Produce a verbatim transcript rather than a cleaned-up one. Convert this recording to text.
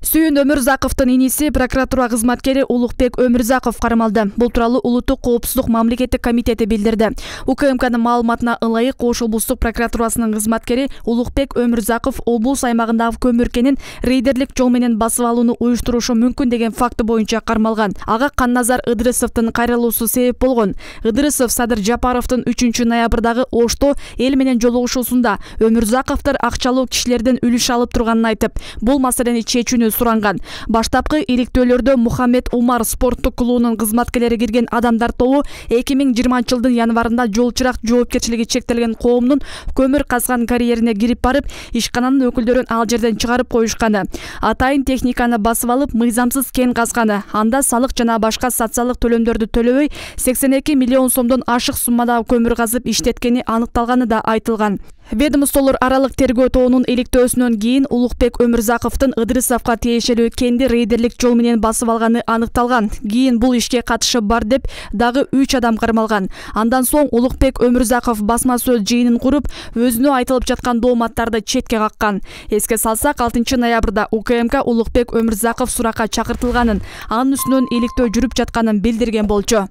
Сүйүн Өмүрзаковдун иниси прокуратура кызматкери Улукбек Өмүрзаков кармалды. Бул тууралуу Улуттук коопсуздук мамлекеттик комитети билдирди. УКМКнын маалыматына ылайык Ош облустук прокуратурасынын кызматкери Улукбек Өмүрзаков облус аймагындагы көмүр кенин рейдерлик жол менен басып алууну уюштурушу мүмкүн деген факты боюнча кармалган. Ага Канназар Ыдырысовдун кайрылуусу себеп болгон. Ыдырысов Садыр Жапаровдун үчүнчү ноябрдагы Ошто эл менен жолугушуусунда Өмүрзаковдор акчалуу кишилерден үлүш алып турганын айтып, бул маселени чечүүнү суранган. Баштапкы иликтөөлөрдө Мухаммед Умар спорттук клубунун кызматкерлери кирген адамдар тобу эки миң жыйырманчы жылдын январында жол чырак жоопкерчилиги чектелген коомдун көмүр казган карьерине кирип барып, ишкананын өкүлдөрүн ал жерден чыгарып коюшканы, атайын техниканы басып алып, мыйзамсыз кен казганы, анда салык жана башка социалдык төлөмдөрдү төлөбөй сексен эки миллион сомдон ашык суммада көмүр казып иштеткени аныкталганы да айтылган. Ведомстволор аралык тергөө тобунун иликтөөсүнөн кийин Улукбек Өмүрзаковдун Ыдырысовго тиешелүү кенди рейдерлик жол менен басып алганы аныкталган. Кийин бул ишке катышы бар деп дагы үч адам кармалган. Андан соң Улукбек Өмүрзаков басма сөз жыйынын куруп, өзүнө айтылып жаткан дооматтарды четке каккан. Эске салсак, алтынчы ноябрда УКМК Улукбек Өмүрзаков суракка чакыртылганын, анын үстүнөн иликтөө жүрүп жатканын билдирген болчу.